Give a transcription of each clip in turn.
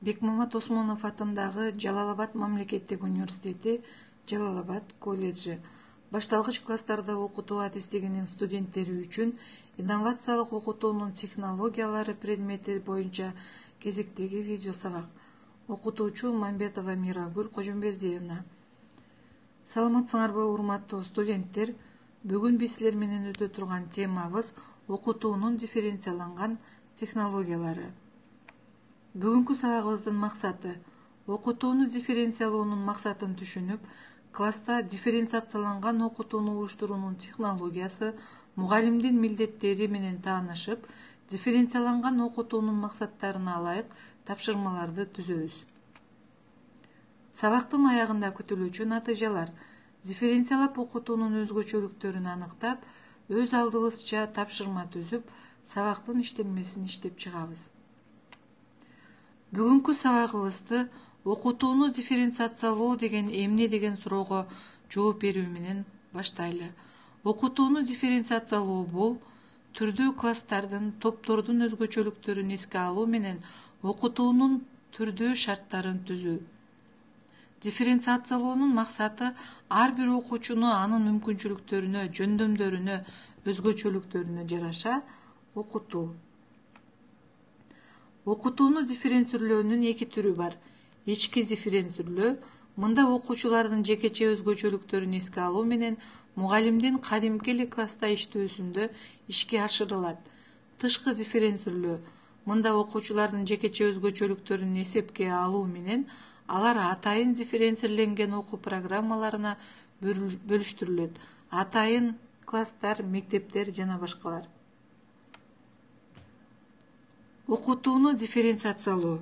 Бекмамат Осмонов атындагы Жалал-Абад мамлекеттик университети Жалал-Абад колледжи башталгыч класстарда окутуу адистигинин студенттери үчүн инновациялык окутуунун технологиялары предмети боюнча кезектеги видео сабак. Окутуучу Мамбетова Мирагүл Кожомбердиевна. Саламатсыңарбы урматтуу студенттер? Бүгүн биз силер менен өтө турган темабыз окутуунун дифференцияланган технологиялары. Бүгүнкү сабагыбыздын максаты окутууну дифференциялоонун максатын түшүнүп, класста дифференциацияланган окутууну уюштуруунун технологиясы, мугалимдин милдеттери менен таанышып, дифференцияланган окутуунун максаттарына ылайык тапшырмаларды түзөбүз. Сабактын аягында күтүлүүчү натыйжалар. Дифференциялап окутуунун өзгөчөлүктөрүн аныктап, өз алдыбызча тапшырма түзүп, сабактын иштелмесин иштеп чыгабыз. Бүгүнкү сабагыбызды окутууну дифференциациялоо деген эмне деген суроого жооп берүү менен баштайлы. Окутууну дифференциациялоо бул түрдүү класстардын, топтордун өзгөчөлүктөрүн эске алуу менен окутуунун түрдүү шарттарын түзүү. Дифференциациялоонун максаты ар бир окуучуну анын мүмкүнчүлүктөрүнө, жөндөмдөрүнө, өзгөчөлүктөрүнө жараша окутуу. Окутууну дифференцирлөөнүн эки түрү бар. Ички дифференцирлөө мында окуучулардын жекече өзгөчөлүктөрүн эске алуу менен мугалимдин кадимки эле класста иштөөсүндө ишке ашырылат. Тышкы дифференцирлөө мында окуучулардын жекече өзгөчөлүктөрүн эсепке алуу менен алар атайын дифференцирленген окуу программаларына бөлүштүрүлөт. Атайын класстар, мектептер жана башкалар. Окутууну дифференциациялоо.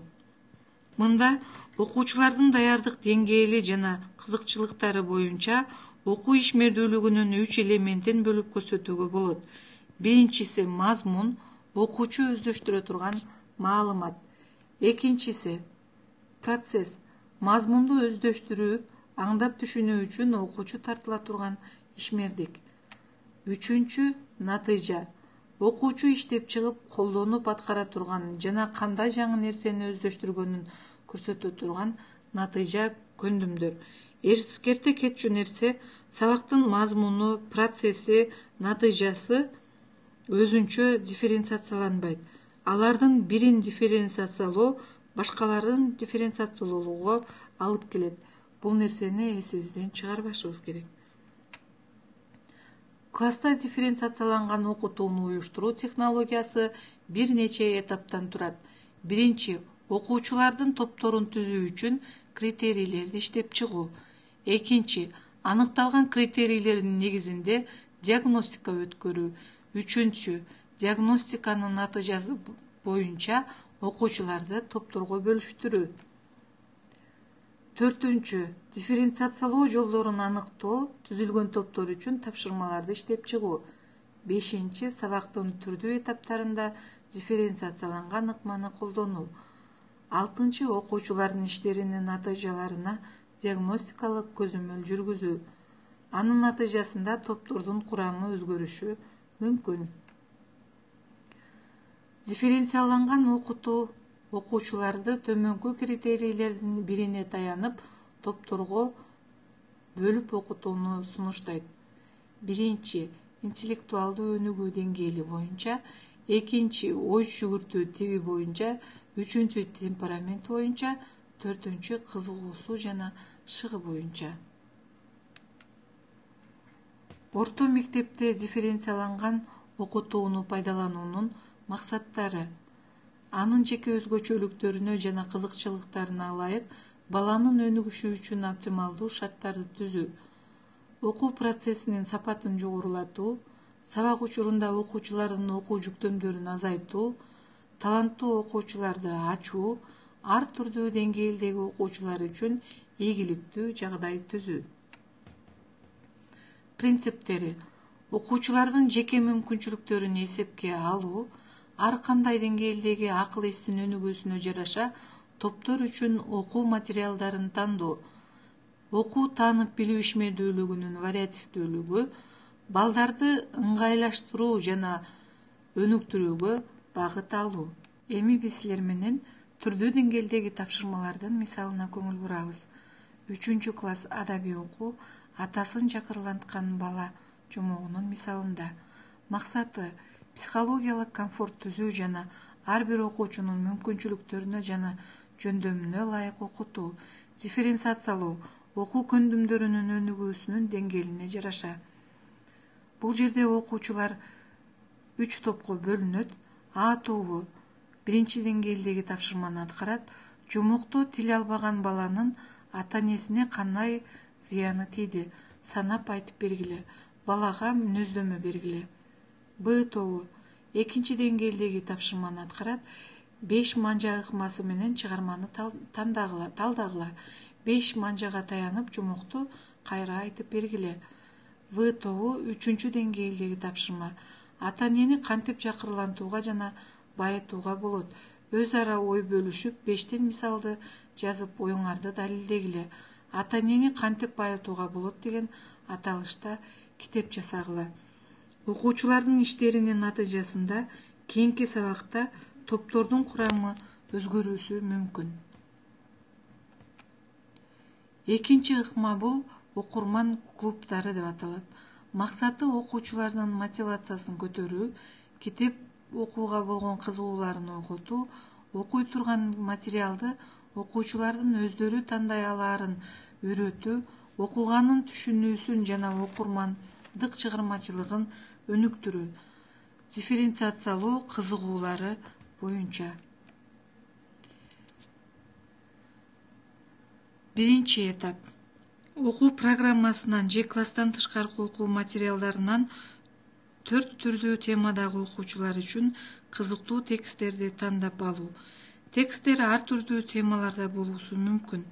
Мында окуучулардын даярдык деңгээли жана кызыкчылыктары боюнча окуу ишмердүүлүгүнүн 3 элементин бөлүп көрсөтүүгө болот. Биринчиси мазмун, окуучу өздөштүрө турган маалымат. Экинчиси процесс, мазмунду өздөштүрүп, аңдап түшүнүү үчүн окуучу тартыла турган ишмердик. Үчүнчү натыйжа, окуучу иштеп чыгып, колдонуп аткара турган жана кандай жаңы нерсени өздөштүргөнүн көрсөтө турган натыйжа көндүмдөр. Эскерте кетчү нерсе, сабактын мазмуну, процесси, натыйжасы өзүнчө дифференциацияланбайт. Алардын бирин дифференциациялоо башкаларын дифференциациялоого алып келет. Бул нерсени эсибизден чыгарбашыбыз керек. Класста дифференциацияланган окутууну уюштуруу технологиясы бир нече этаптан турат. Биринчи, окуучулардын топторун түзүү үчүн критерийлерди иштеп чыгуу. Экинчи, аныкталган критерийлердин негизинде диагностика өткөрүү. Үчүнчү, диагностиканын натыйжасы боюнча окуучуларды топторго бөлүштүрүү. Төртүнчү, дифференциациялоо жолдорун аныктоо, түзүлгөн топтор үчүн тапшырмаларды иштеп чыгуу. Бешинчи, сабактын түрдүү этаптарында дифференциацияланган ыкманы колдонуу. Алтынчы, окуучулардын иштеринин натыйжаларына диагностикалык көзөмөл жүргүзүү. Анын натыйжасында топтордун курамы өзгөрүшү мүмкүн. Дифференцияланган окутуу окуучуларды төмөнкү критерийлердин бирине таянып, топторго бөлүп окутууну сунуштайт. Биринчи, интеллектуалдуу өнүгүү деңгээли боюнча, экинчи, ой жүгүртүү тиби боюнча, үчүнчү, темперамент боюнча, төртүнчү, кызыгуусу жана шыгы боюнча. Орто мектепте дифференцияланган окутууну пайдалануунун максаттары. Анын жеке өзгөчөлүктөрүнө жана кызыкчылыктарына ылайык баланын өнүгүшү үчүн оптималдуу шарттарды түзүү. Окуу процессинин сапатын жогорулатуу, сабак учурунда окуучулардын окуу жүктөмдөрүн азайтуу, таланттуу окуучуларды ачуу, ар түрдүү деңгээлдеги окуучулар үчүн ийгиликтүү жагдай түзүү. Принциптери. Окуучулардын жеке мүмкүнчүлүктөрүн эсепке алуу, ар кандай деңгээлдеги акыл эстин өнүгүүсүнө жараша топтор үчүн окуу материалдарын тандоо. Окуу таанып билүү ишмердүүлүгүнүн вариативдүүлүгү, балдарды ыңгайлаштыруу жана өнүктүрүүгө багыт алуу. Эми биз силер менен түрдүү деңгээлдеги тапшырмалардын мисалына көңүл бурабыз. 3-класс адабий окуу атасын чакырланткан бала жомогунун мисалында. Максаты психологиялык комфорт түзүү жана ар бир окуучунун мүмкүнчүлүктөрүнө жана жөндөмүнө ылайык окутуу, дифференциациялоо окуу көндүмдөрүнүн өнүгүүсүнүн деңгээлине жараша. Бул жерде окуучулар 3 топко бөлүнөт. А тобу 1 деңгээлдеги тапшырманы аткарат. Жумукту тил албаган баланын ата-энесине кандай зыяны тийди санап айтып бергиле. Балага мүнөздөмө бергиле. Б тобу 2 деңгээлдеги тапшырманы аткарат. 5 манжа ыкмасы менен чыгарманы талдагыла. 5 манжага таянып жумукту кайра айтып бергиле. В тобу 3 деңгээлдеги тапшырма. Ата-энени кантип чакырлантууга жана байытууга болот? Өз ара ой бөлүшүп, 5 мисалды жазып оюңарды далилдегиле. Ата-энени кантип байытууга болот деген аталышта китеп жасагыла. Окуучулардын иштеринин натыйжасында кийинки сабакта топтордун курамы өзгөрүүсү мүмкүн. Экинчи ыкма бул окурман клубдары деп аталат. Максаты окуучулардын мотивациясын көтөрүү, китеп окууга болгон кызыгууларын ойготуу, окуй турган материалды окуучулардын өздөрү тандай алаарын үйрөтүү, окуганын түшүнүүсүн жана окурмандык чыгармачылыгын өнүктүрүү, дифференциациялоо кызыгуулары боюнча. Биринчи этап. Окуу программасынан же класстан тышкаркы окуу материалдарынан 4 түрдүү темадагы окуучулар үчүн кызыктуу тексттерди тандап алуу. Тексттер ар түрдүү темаларда болуусу мүмкүн,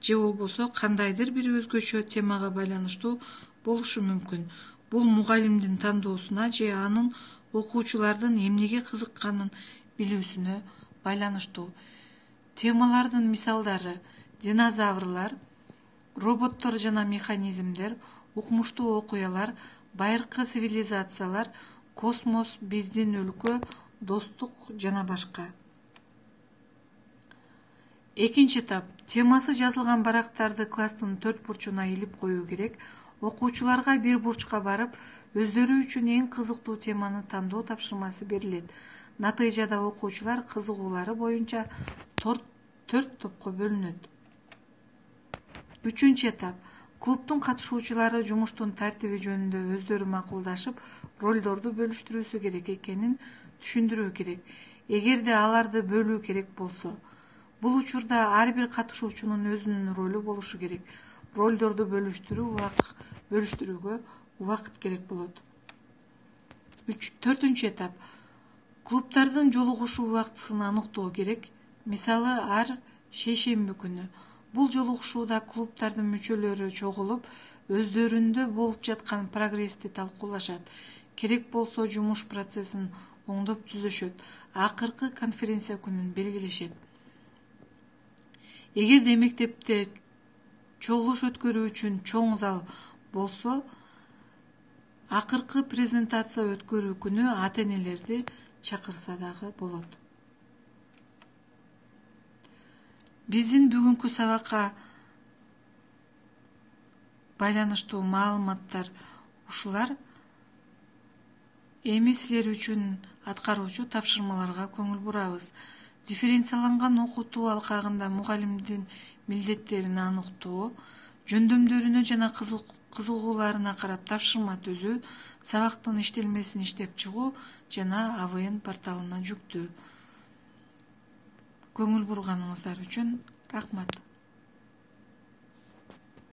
же болбосо кандайдыр бир өзгөчө темага байланыштуу болушу мүмкүн. Бул мугалимдин тандоосуна же анын окуучулардын эмнеге кызыкканын билүүсүнө байланыштуу. Темалардын мисалдары: динозаврлар, роботтор жана механизмдер, укмуштуу окуялар, байыркы цивилизациялар, космос, биздин өлкө, достук жана башка. Экинчи этап. Темасы жазылган барактарды класстын 4 бурчуна илип коюу керек. Окуучуларга бир бурчка барып, өздөрү үчүн эң кызыктуу теманы тандоо тапшырмасы берилет. Натыйжада окуучулар кызыгуулары боюнча 4 топко бөлүнөт. Үчүнчү этап. Клубдун катышуучулары жумуштун тартиби жөнүндө өздөрү макулдашып, ролдорду бөлүштүрүүсү керек экенин түшүндүрүү керек. Эгерде аларды бөлүү керек болсо, бул учурда ар бир катышуучунун өзүнүн ролу болушу керек. Ролдорду бөлүштүрүүгө убакыт керек болот. 4-ч этап. Клубдардын жолугушуу убактысын аныктоо керек. Мисалы, ар шейшемби күнү. Бул жолугушууда клубдардын мүчөлөрү чогулуп, өздөрүндө болуп жаткан прогрессти талкуулашат. Керек болсо жумуш процессин оңдоп түзөшөт. Акыркы конференция күнүн белгилешет. Эгерде мектепте чогулуш өткөрүү үчүн чоң зал болсо, акыркы презентация өткөрүү күнү ата-энелерди чакырса дагы болот. Биздин бүгүнкү сабакка байланыштуу маалыматтар ушулар. Эми силер үчүн аткаруучу тапшырмаларга көңүл бурабыз. Дифференцияланган окутуу алкагында мугалимдин милдеттерин аныктоо, жөндөмдөрүнө жана кызыгууларына карап тапшырма түзүү, сабактын иштелмесин иштеп чыгуу жана АВН порталына жүктөө. Көңүл бурганыңыздар үчүн рахмат.